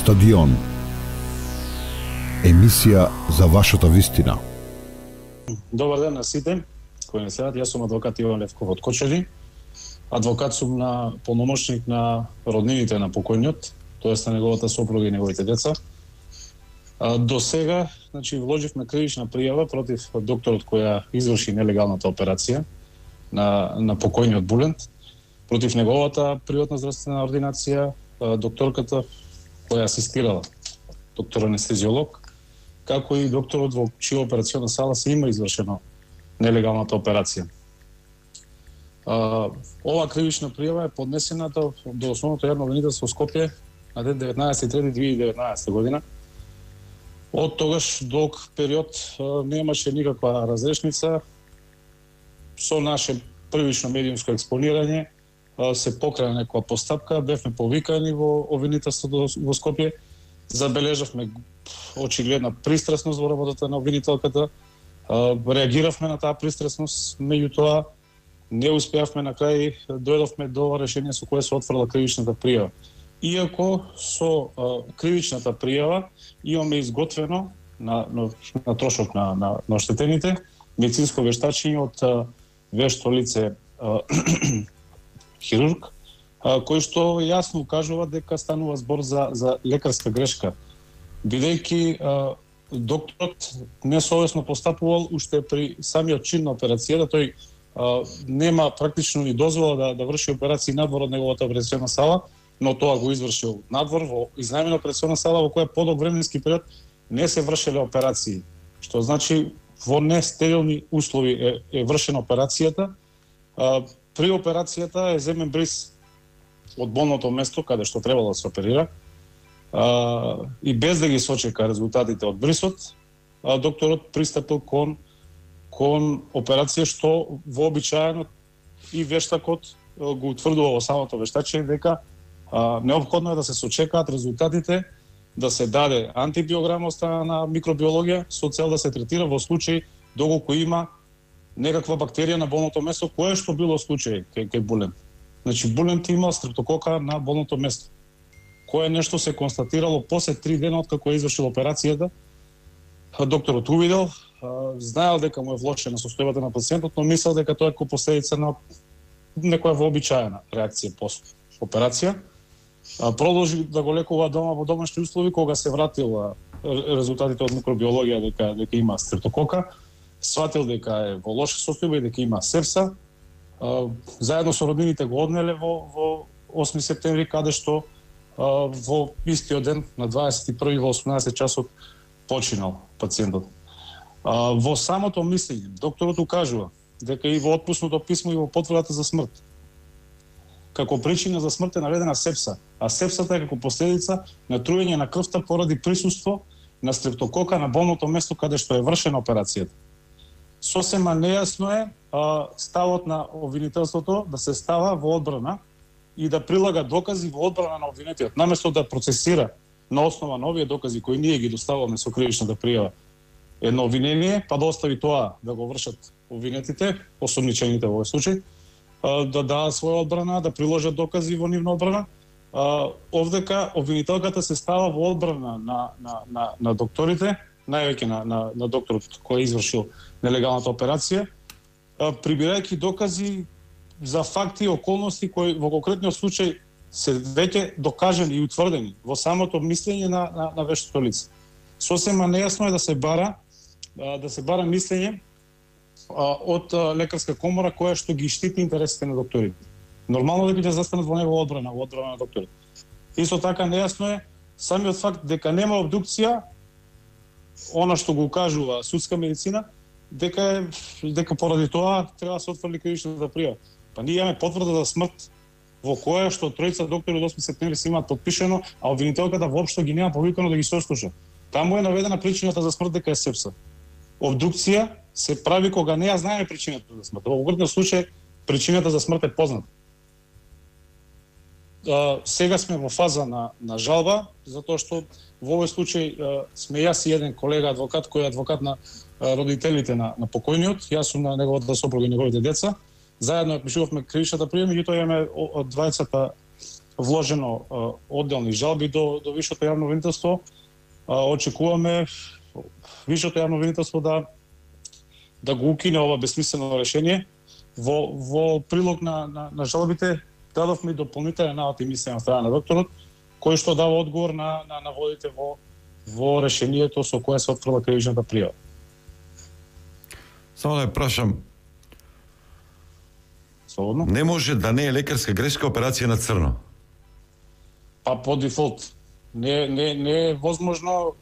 Стадион. Емисија за вашата вистина. Добар ден на сите кои не следат. Јас сум адвокат Иван Левков од Кочани. Адвокат сум на полномошник на роднините на покојниот, тоест на неговата сопруга и неговите деца. До сега, вложивме кривична пријава против докторот која изврши нелегалната операција на покојниот Булент, против неговата приватна здравствена ординација, докторката која асистирала, доктор анестезиолог, како и докторот во чија операциона сала се има извршено нелегалната операција. Ова кривична пријава е поднесена до Основното јавно обвинителство Скопје на ден 19.3.2019 година. Од тогаш долг период немаше никаква разрешница. Со наше првично медиумско експонирање се покрена некоја постапка, бевме повикани во обвинителството во Скопје, забележавме очигледна пристрасност во работата на обвинителката, реагиравме на таа пристрасност, меѓутоа не успеавме на крај, дојдовме до решение со кое се отфрла кривичната пријава. Иако со кривичната пријава имаме изготвено на трошок на оштетените медицинско вештачење од вешто лице хирург, кој што јасно укажува дека станува збор за лекарска грешка, бидејќи докторот несовесно постапувал уште при самиот чин на операцијата. Тој нема практично ни дозвола да врши операции надвор од неговата операциона сала, но тоа го извршил надвор во изнајмена операциона сала во која подолг временски период не се вршеле операции, што значи во нестерилни услови е вршена операцијата. При операцијата е земен бриз од болното место каде што требало да се оперира, и без да ги сочека резултатите од брисот, докторот пристапил кон операција што вообичаено и вештакот го утврдува во самото вештачење дека неопходно е да се сочекаат резултатите, да се даде антибиограма од страна на микробиологија со цел да се третира во случај доколку има некаква бактерија на болното место, кое што било случај кај Булент. Значи Булент имал стрептокока на болното место, кое нешто се констатирало после 3 дена од како е извршил операцијата. Докторот увидел, знаел дека му е влошена состојбата на пациентот, но мислел дека тоа е како последица на некоја вообичаена реакција после операција. Продолжи да го лекува дома во домашни услови. Кога се вратил резултатите од микробиологија дека има стрептокока, сватил дека е во лоша состојба и дека има сепса. Заедно со роднините го однеле во 8 септември, каде што во истиот ден на 21 во 18 часот починал пациентот. Во самото мислење докторот укажува дека и во отпуснато писмо и во потврдата за смрт како причина за смрт е наведена сепса, а сепсата е како последица на труење на крвта поради присуство на стрептокока на болното место каде што е вршена операцијата. Сосема нејасно е ставот на обвинителството да се става во одбрана и да прилага докази во одбрана на обвинетиот, наместо да процесира на основа на овие докази кои ние ги доставуваме со кривичната пријава едно обвинение, па да остави тоа да го вршат обвинетите, осомничените во овој случај, да дадат своја одбрана, да приложат докази во нивна одбрана. Овдека обвинителката се става во одбрана на докторите, највеќе на докторот кој извршил нелегалната операција, прибирајќи докази за факти и околности кои во конкретниот случај се веќе докажани и утврдени во самото мислење на вештото лице. Сосема нејасно е да се бара мислење од лекарска комора која што ги штити интересите на докторите. Нормално дека ќе застанат во негова одбрана, во одбрана на докторите. Исто така нејасно е самиот факт дека нема обдукција, она што го кажува судска медицина, дека поради тоа треба да се отфрли кривичната пријава. Па ние имаме потврда за смрт во која што тројца доктори од 8 септември се имаат подпишено, а обвинителката воопшто ги нема повикано да ги сослуша. Таму е наведена причината за смрт дека е сепса. Обдукција се прави кога не ја знаеме причината за смрт. Во конкретниот случај причината за смрт е позната. Сега сме во фаза на жалба, затоа што во овој случај сме јас и еден колега адвокат кој е адвокат на родителите на покојниот. Јас сум на неговата сопруга и неговите деца. Заедно ја пишувавме кривичната пријава, меѓутоа имаме од двајцата вложено одделни жалби до Висшето јавно обвинителство. Очекуваме Висшето јавно обвинителство да го укине ова безсмислено решение. Во прилог на жалбите дадовме и дополнителен навод и мислење на страна на докторот, кој што дава одговор на наводите во решението со кое се отфрла кривичната пријава. Само да ја прашам, Слободно? не може да не е лекарска грешка операција на црно? Па по дефолт. Не е возможно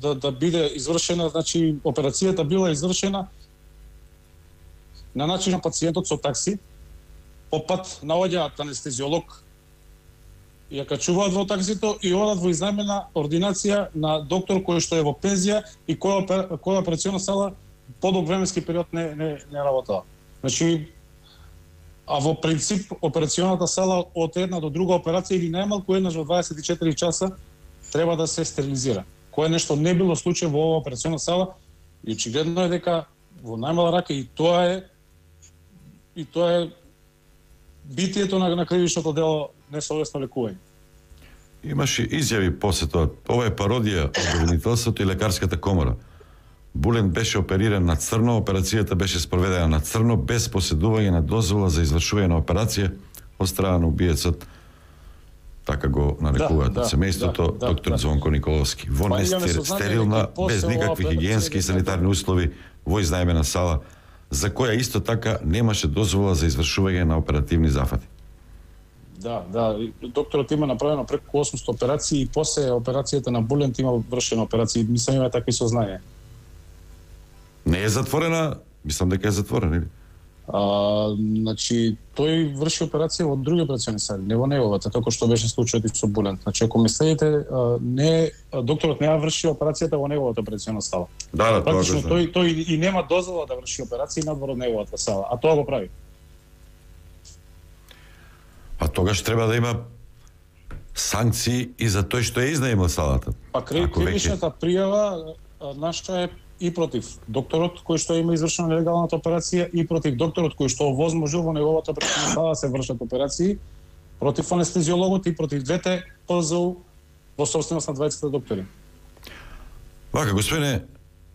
да биде извршена, значи операцијата била извршена на начин на пациентот со такси, по пат наоѓаат анестезиолог, ја качуваат во таксито и одат во изнајмена ординација на доктор кој што е во пензија и која операцијна сала подолг временски период не работела. Значи, а во принцип операционата сала од една до друга операција или најмалку еднаш во 24 часа треба да се стерилизира. Кое нешто не било случај во оваа операционна сала и очигледно е дека во најмала рака и тоа е битието на кривичното дело несовесно лекување. Имаше изјави после тоа. Ова е пародија од обвинителството и лекарската комора. Булен беше опериран на црно, операцијата беше спроведена на црно, без поседување на дозвола за извршување на операција од страна на убиецот, така го нарекуваат од семејството, доктор Звонко Николовски. Во стерилна, без никакви хигиенски и санитарни услови, во изнајмена сала, за која исто така немаше дозвола за извршување на оперативни зафати. Да, докторот има направено преку 800 операции и после операцијата на Булент има вршена операција. Мислам има такви сознања. Не е затворена, мислам дека е затворена, или? Значи, тој врши операција во други операциони сали, не во неговата, како што беше случајот и со Булент. Значи, ако ми следите, докторот не ја врши операцијата во неговата операционна сала. Да, тоа практично тој и нема дозвола да врши операции надвор од неговата сала, а тоа го прави. А тогаш треба да има санкции и за тој што е изнаемил салата. Па кривичната пријава наша е и против докторот кој што има извршена нелегалната операција и против докторот кој што овозможил во неговата операцијна сала да се вршат операции, против анестезиологот и против двете ПЗУ во собственост на двајцата доктори. Вака, господине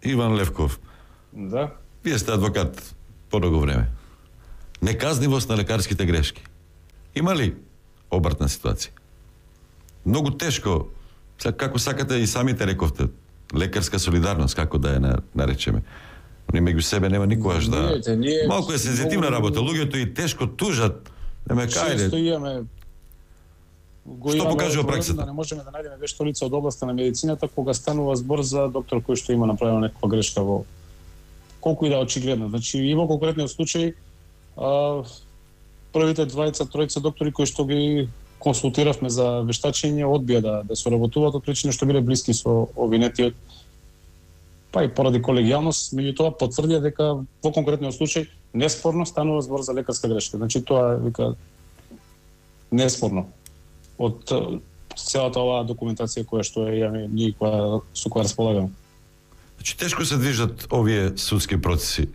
Иван Левков. Да. Вие сте адвокат подолго време. Неказнивост на лекарските грешки. Има ли обратна ситуација? Многу тешко, како сакате и самите рековте, лекарска солидарност, како да ја наречеме. Они меѓу себе нема никогаш да... Малку е сензитивна работа, луѓето и тешко тужат, нема кајде. Често имаме... Што покажува праксата? Да не можеме да најдеме вешто лице од областа на медицината кога станува збор за доктор кој што има направено некаква грешка во колку и да очигледно. Значи и во конкретниот случај првите тројца доктори кои што ги консултиравме за вештачење одбија да соработуваат од причина што биле блиски со обвинетиот. Па и поради колегијалност, меѓутоа потврдија дека во конкретниот случај неспорно станува збор за лекарска грешка. Значи тоа вика неспорно од целата оваа документација која што е ние со која располагаме. Значи тешко се движат овие судски процеси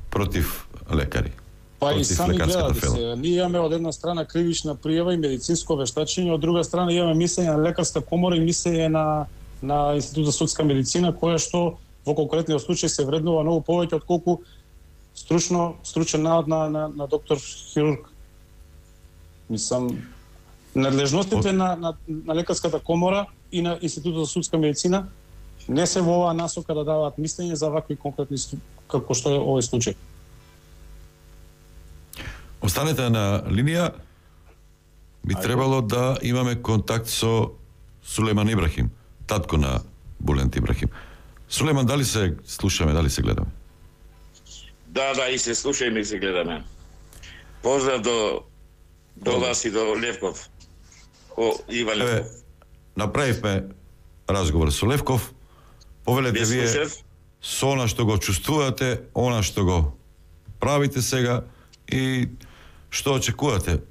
против лекари. Па и сами гледате се, ние имаме од една страна кривична пријава и медицинско вештачење, од друга страна имаме мислење на лекарска комора и мислење на Институт за судска медицина, која што во конкретниот случај се вреднува многу повеќе отколку стручен навод на доктор хирург. Мислам, надлежностите на лекарската комора и на Институтот за судска медицина не се во оваа насока да даваат мислење за вакви конкретни како што е овој случај. Останете на линија. Би требало да имаме контакт со Сулейман Ибрахим, татко на Булент Ибрахим. Сулейман, дали се слушаме, дали се гледаме? Да, и се слушаме и се гледаме. Поздрав до вас и до Левков. Иван Левков. Направивме разговор со Левков. Повелете вие со она што го чувствувате, она што го правите сега и што очекувате?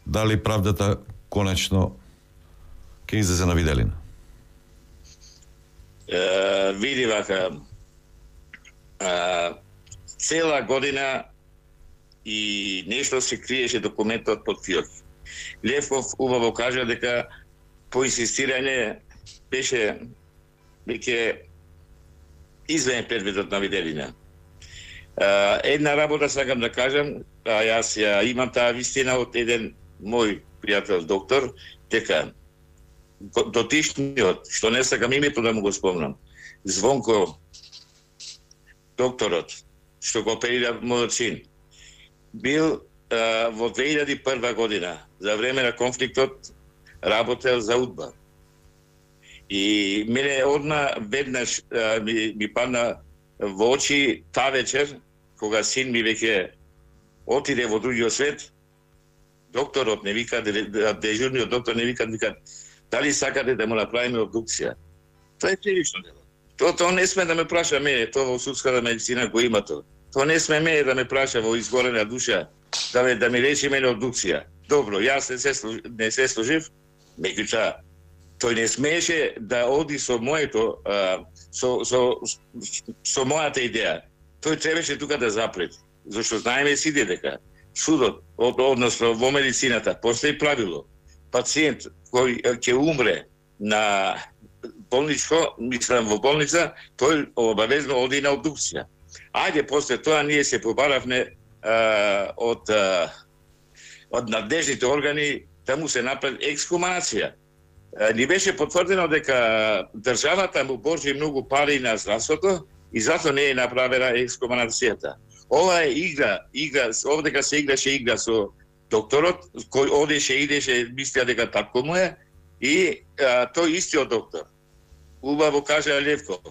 Дали правдата конечно ќе излезе на виделина? Види вака, цела година и нешто се криеше документот под филм. Левков убаво кажа дека по инсистирање беше веќе извен предметот на виделина. Една работа сакам да кажам, јас ја имам таа вистина од еден мој пријател доктор, дека дотишниот, што не сакам името да му го спомнам, Звонко, докторот, што го оперира мојот син, бил во 2001 година, за време на конфликтот, работел за УДБА. И мене одма веднаш ми падна во очи таа вечер, кога син ми веќе отиде во другиот свет, докторот не вика, дежурниот доктор не вика, дали сакате да му направиме обдукција? Тоа е кривично дело. Тоа не сме да ме праша мене, тоа во судската медицина го има тоа. Тоа не сме мене да ме праша во изгорена душа, да ми рече мене обдукција. Добро, јас не се служив, меѓутоа тој не смееше да оди со моето, со мојата идеја. Тој требаше тука да запрет, зашто знаеме сите дека судот, односно во медицината, постои правило. Пациент кој ќе умре на болничко, мислам во болница, тој обавезно оди на обдукција. Ајде, после тоа ние се побаравме од надежните органи да му се направи ексхумација. Ни беше потврдено дека државата му боржи многу пари на здравството и затоа не е направена ексхумацијата. Ова е игра, овдека се играше игра со докторот, кој одеше, идеше, мислеа дека така му е, и тој истиот доктор, убаво кажа Левков,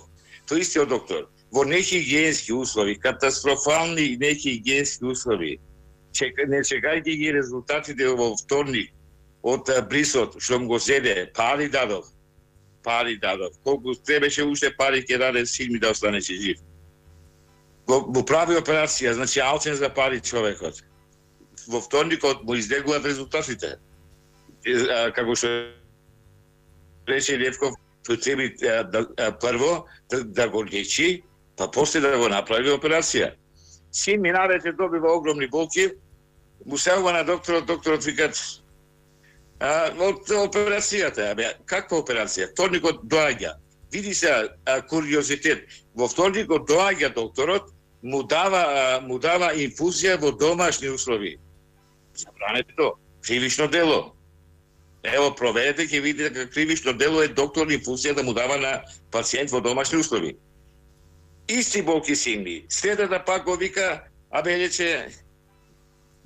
тој истиот доктор, во нехигиенски услови, катастрофални нехигиенски услови, не чекајќи ги резултатите во вторник од Брисот, што му го зеде, пари дадов, колку требеше уште пари ќе даде син ми да останеше жив. Му прави операција, значи алчен за пари човекот. Во вторникот му издегуваат резултатите. Како што рече Левков, тој треба прво да го лечи, па после да го направи операција. Син ми навечер добива огромни болки, му селува на докторот викат од операцијата. Каква операција? Вторникот доаѓа. Види се куриозитет. Во вторникот доаѓа докторот, му дава инфузија во домашни услови. Забрането, кривично дело. Ево, проверете, ќе видите дека кривично дело е доктор инфузија да му дава на пациент во домашни услови. Исти болки син ми. Следата пак го вика, рече,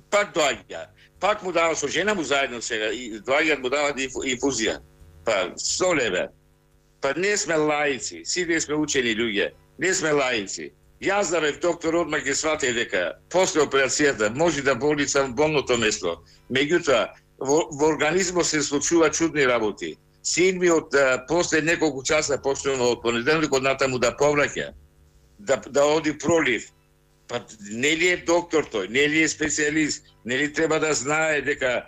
пак доаѓа. Пак му дава со жена му заедно сега, и доаѓаат му дават инфузија. Па, 100 леве. Па не сме лаици, сите сме учени луѓе, не сме лаици. Јас да бев доктор одма ќе сватев дека после операцијата може да болница во болното место. Меѓутоа, во организмот се случува чудни работи. Син ми од после неколку часа почнува од понеделникот натаму да повраќа, да оди пролив. Па нели е доктор тој, нели е специјалист, нели треба да знае дека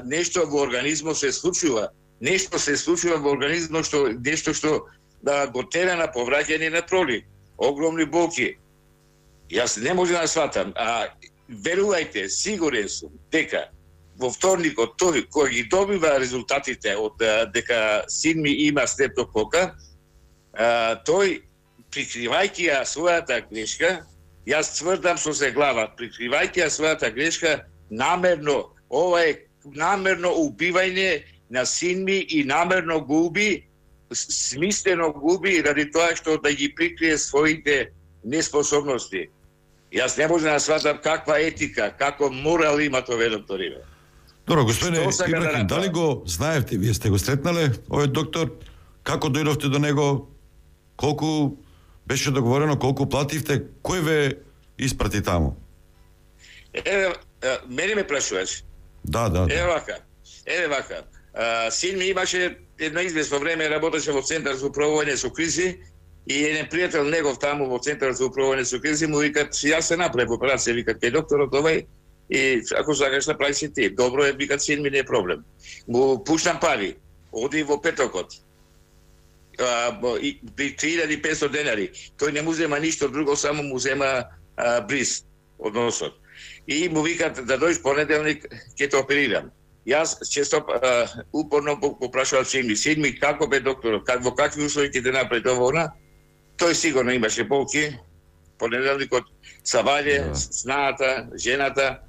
нешто во организмот се случува, нешто се случува во организмот што го тера на повраќање на пролив. Огромни болки. Јас не можам да сватам, верувајте, сигурен сум дека во вторникот тој кој ги добива резултатите од дека син ми има стрептокока, тој прикривајќи ја својата грешка, јас тврдам со се глава, прикривајќи ја својата грешка, намерно, ова е намерно убивање на син ми и намерно го уби, смислено губи ради тоа што да ги прикрие своите неспособности. Јас не можам да сватам каква етика, како морал има тој доктор. Добро, господине Ибрахим, дали го знаевте, вие сте го сретнале, овој доктор, како дојдовте до него, колку беше договорено, колку плативте, кој ве испрати таму? Мене ме прашуваш? Да. Еве вака. Син ми имаше едно известно време, работеше во Центар за управување со кризи и еден пријател негов таму во Центар за управување со кризи му викат, јас се направив операција, викат, кај докторот овај, и ако сакаш направи си ти. Добро е, викат, син ми не е проблем. Му пуштам пари, оди во Петокот. 3500 денари. Тој не му зема ништо друго, само му зема бриз од носот. И му викат да дојдеш понеделник, ќе те оперирам. Јас често упорно попрашував Седми, како бе докторот, во какви услови ќе те направи тоа? Тој сигурно имаше болки. Понеделникот Саваље, снаата, жената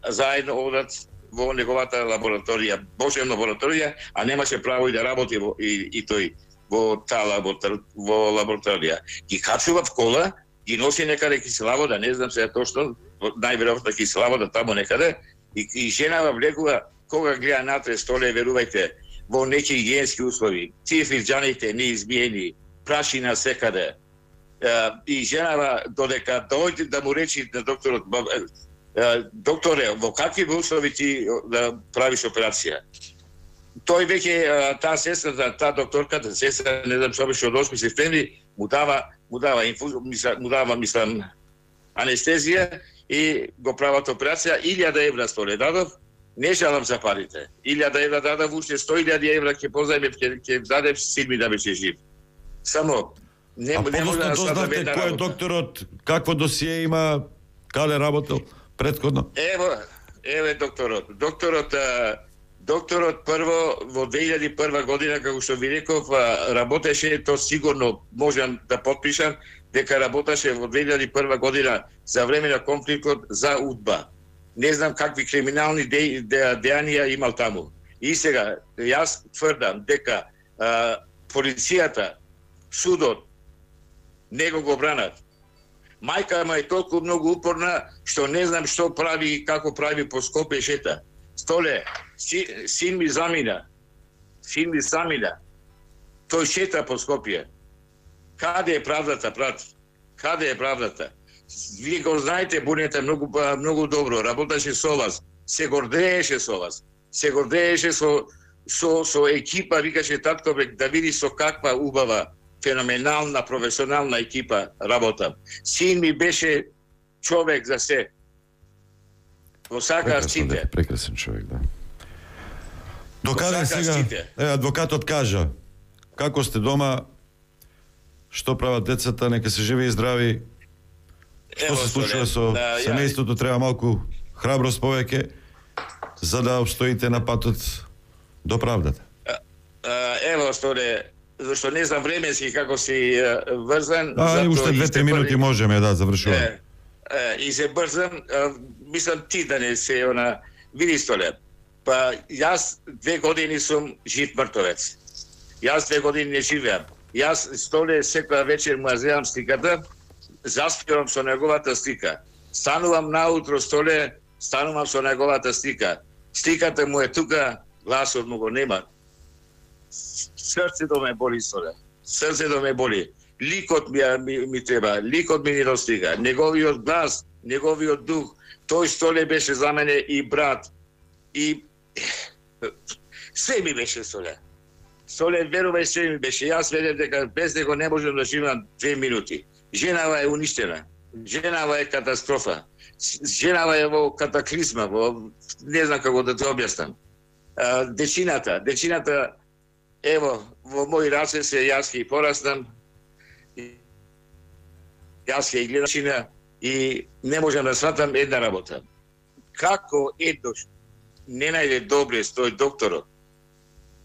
заедно одат во неговата лабораторија, Божевна лабораторија, а немаше право и да работи и тој во таа лабораторија. Ги качува в кола, ги носи некаде кисела вода, не знам сега точно, најверојатно кисела вода таму некаде, и женава влегува, кога гледа натре столе, верувајте, во неки хигиенски услови, тие фирџаните неизмиени, прашина секаде, и женава додека дојде да му речи на докторот, докторе, во какви услови ти да правиш операција? Тој веќе таа сестра, таа докторката, сестра, не знам што беше од 8 септември, му дава мислам анестезија и го прават операција. 1000 евра столе дадов, не жалам за парите. 1000 евра дадов, уште 100.000 евра ќе позајмев, ќе дадев Седми да беше жив. Само не може да дознавте кој е докторот, какво досие има, каде работел претходно? Еве докторот. Докторот прво во 2001 година, како што ви реков, работеше, то сигурно можам да потпишам, дека работеше во 2001 година за време на конфликтот за УДБА. Не знам какви криминални дејанија имал таму. И сега, јас тврдам дека полицијата, судот, него го бранат. Мајка ма е толку многу упорна, што не знам што прави и како прави по Скопје шета. Столе, син ми замина. Тој шета по Скопје. Каде е правдата, брат? Каде е правдата? Вие го знаете, Бунета многу добро, работеше со вас, се гордееше со вас, се гордееше со екипа, викаше татко, да види со каква убава, феноменална, професионална екипа работам. Син ми беше човек за се. Го сакаа сите. Прекрасен човек, да. Докаде сега, адвокатот кажа, како сте дома, што прават децата, нека се живи и здрави, што се случува со семејството, треба малку храброст повеќе, за да обстоите на патот до правдата. Ево, зашто не знам временски како си врзан. Уште 2-3 минути можеме да завршуваме. И се брзам, мислам ти да не се види Столе. Па јас 2 години сум жив мртовец. Јас 2 години не живеам. Јас Столе секоја вечер му земам сликата, заспивам со неговата слика. Станувам наутро Столе, станувам со неговата слика. Сликата му е тука, гласот му го нема. Срцето ме боли, Столе. Срцето ме боли. Ликот ми треба, ликот ми не достига. Неговиот глас, неговиот дух, тој Столе беше за мене и брат. И се ми беше Столе. Столе, верувај, се ми беше. Јас ведем дека без него не можам да живеам 2 минути. Женава е уништена. Женава е катастрофа. Женава е во катаклизма, не знам како да те објаснам. Дечината, ево, во мои раце се јас ќе пораснам. Јас ќе гледам и не можам да сватам една работа. Како еднош не најде доблест тој докторот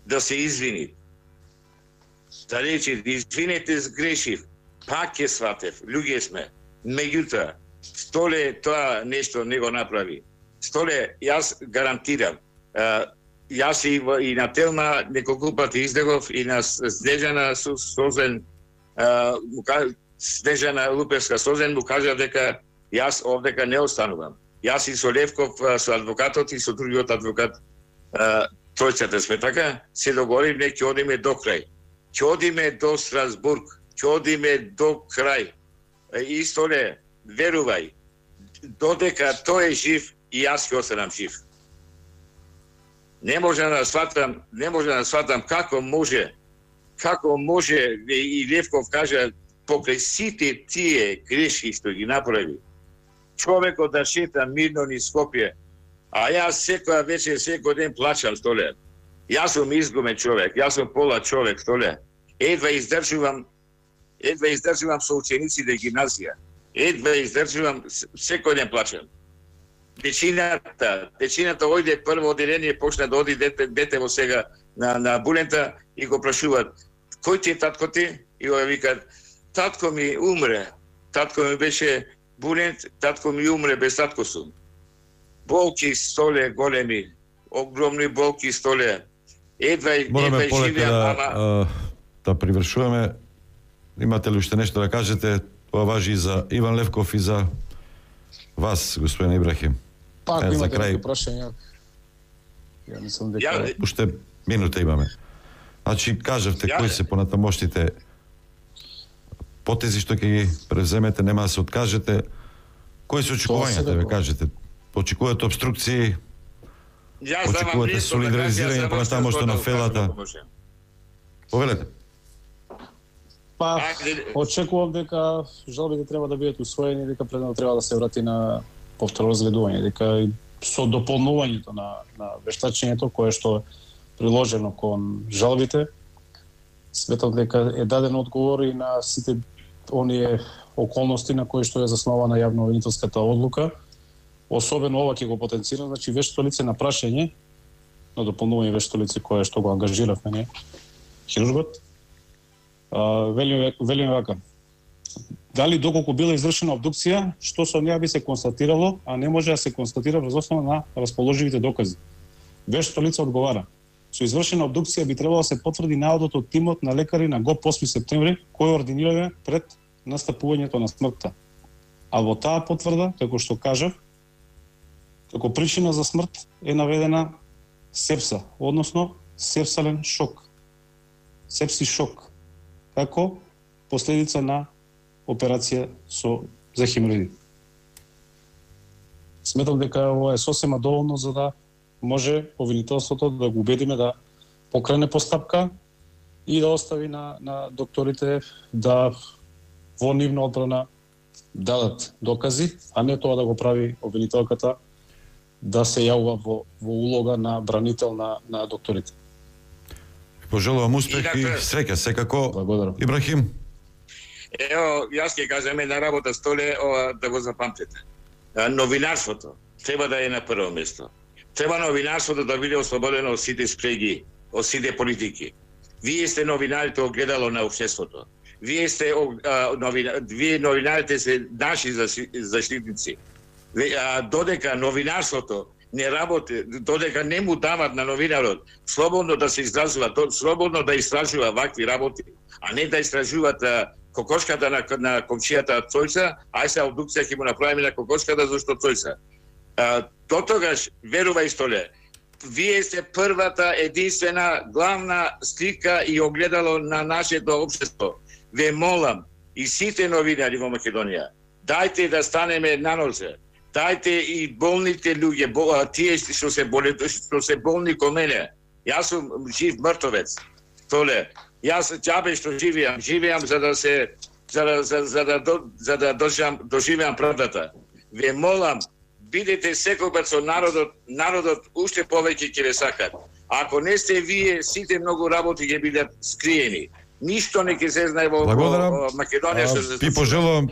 да се извини, да рече, извинете, сгрешив, пак ќе сватев, луѓе сме. Меѓутоа, Столе тоа нешто не го направи. Столе, јас гарантирам, јас и на Телма неколку пати издегов и на Снежана Созен, Снежана Луперска Созен му кажа дека јас овдека не останувам. Јас и со Левков, со адвокатот и со другиот адвокат, тројцата сме така, се договоривме, ќе одиме до крај. Ќе одиме до Страсбург, ќе одиме до крај. И Столе, верувај, додека тој е жив, и јас ќе останам жив. Не можам да сватам како може, и Левков кажа, покрај сите тие грешки што ги направи, човекот да шета мирно низ Скопје, а јас секоја вечер, секој ден плачам, Столе. Јас сум изгубен човек, јас сум пола човек, Столе. Едва издржувам со учениците гимназија. Едва издржувам, секој ден плачам. Течината ојде прво одделение, почна да оди дете во сега на Булента и го прашуваат: "Кој ти е татко ти?" И го викаат: "Татко ми умре. Татко ми беше Булент, татко ми умре, без татко сум." Болки столе големи, огромни болки столе. Едва полека да привршуваме. Имате ли уште нешто да кажете? Тоа важи и за Иван Левков и за вас, господин Ибрахим. Па, ако за имате крај. прашање, ја мислам дека Уште минута имаме. Значи, кажавте кои се понатамошните потези што ќе ги превземете, нема да се откажете. Кои се очекувањата, ве кажете? Очекувате обструкции? Очекувате солидаризирање понатамошто на фелата? Повелете. Па, очекувам дека жалбите треба да бидат усвоени, дека предно треба да се врати на повторно разгледување, дека со дополнувањето на вештачењето кое што е приложено кон жалбите, сметам дека е даден одговор и на сите оние околности на кои што е заснована јавно-обвинителската одлука. Особено ова ќе го потенцира, значи вешто лице на прашање, на дополнување вешто лице кое што го ангажиравме ние, хирургот. Велиме вака: дали доколку била извршена обдукција, што со неа би се констатирало, а не може да се констатира врз основа на расположивите докази. Вешто лице одговара: со извршена обдукција би требало да се потврди наодот од тимот на лекари на ГОП 8 септември, кој ординирале пред настапувањето на смртта. А во таа потврда, како што кажав, како причина за смрт е наведена сепса, односно сепсален шок. Сепси шок, како последица на операција за хемороиди. Сметам дека ова е сосема доволно за да може обвинителството да го убедиме да покрене постапка и да остави на докторите да во нивна одбрана дадат докази, а не тоа да го прави обвинителката да се јавува во улога на бранител на докторите. Пожелувам успех и среќа секако. Благодарам. Ибрахим. Ево, јас ќе кажам една работа столе, да го запамтите. Новинарството треба да е на прво место. Треба новинарството да биде ослободено од сите спреги, од сите политики. Вие сте новинарите огледало на општеството. Вие новинарите се наши заштитници. Додека новинарството не работи, додека не му дават на новинарот слободно да се изразува, слободно да истражува вакви работи, а не да истражуваат кокошката на комшијата Цојца, ај се обдукција ќе му направиме на кокошката зашто Цојца. Дотогаш, верувај столе, вие сте првата, единствена, главна слика и огледало на нашето општество. Ве молам, и сите новинари во Македонија, дајте да станеме на нозе. Дајте и болните луѓе, тие што се болни ко мене. Јас сум жив мртовец. Толе, јас џабе што живеам за да доживеам правдата. Ве молам, бидете секогаш со народот уште повеќе ќе ве сакат. Ако не сте вие, сите многу работи ќе бидат скриени. Ништо не ќе се знае во Македонија што се Ви пожелувам.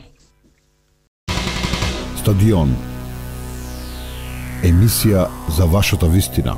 Стадион. Емисија за вашата вистина.